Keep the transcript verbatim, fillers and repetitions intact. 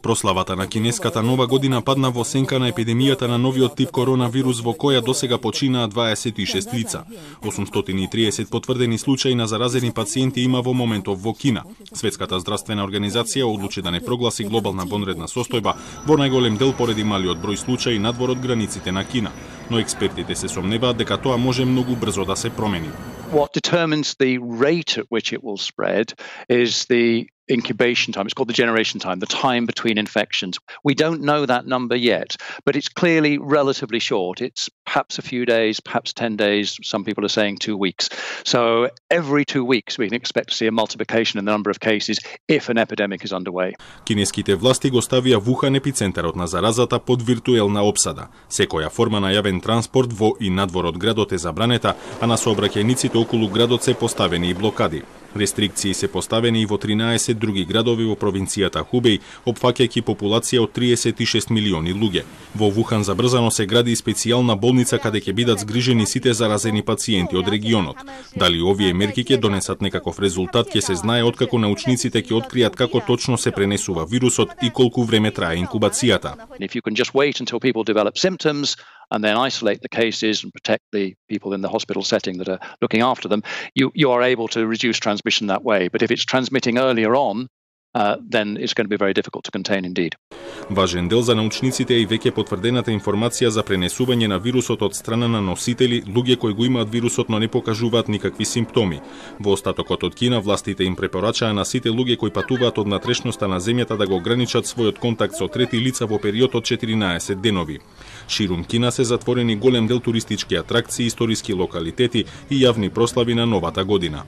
Прославата на кинеската нова година падна во сенка на епидемијата на новиот тип коронавирус во која досега починаа дваесет и шест лица. осумстотини и триесет потврдени случаи на заразени пациенти има во моментов во Кина. Светската здравствена организација одлучи да не прогласи глобална вонредна состојба во најголем дел поради малиот број случаи надвор од границите на Кина. Но експертите се сомневаат дека тоа може многу брзо да се промени. What determines the rate at which it will spread is the incubation time. It's called the generation time, the time between infections. We don't know that number yet, but it's clearly relatively short. It's perhaps a few days, perhaps ten days. Some people are saying two weeks. So every two weeks we can expect to see a multiplication in the number of cases if an epidemic is underway. Кинеските власти го ставија Вухан епицентарот на заразата под виртуелна опсада. Секоја форма на јавен транспорт во и надвор од градот е забранета, а на сообраќајниците околу градот се поставени и блокади. Рестрикции се поставени и во тринаесет други градови во провинцијата Хубеј, опфаќајќи популација од триесет и шест милиони луѓе. Во Вухан забрзано се гради специјална болница каде ќе бидат згрижени сите заразени пациенти од регионот. Дали овие мерки ќе донесат некаков резултат ќе се знае откако научниците ќе откријат како точно се пренесува вирусот и колку време трае инкубацијата. If you can just wait until people develop symptoms and then isolate the cases and protect the people in the hospital setting that are looking after them, you, you are able to reduce transmission that way. But if it's transmitting earlier on, uh, then it's going to be very difficult to contain indeed. Важен дел за научниците е и веќе потврдената информација за пренесување на вирусот од страна на носители, луѓе кои го имаат вирусот но не покажуваат никакви симптоми. Во остатокот од Кина властите им препорачаа на сите луѓе кои патуваат од натрешноста на земјата да го ограничат својот контакт со трети лица во период од четиринаесет денови. Ширум Кина се затворени голем дел туристички атракции, историски локалитети и јавни прослави на новата година.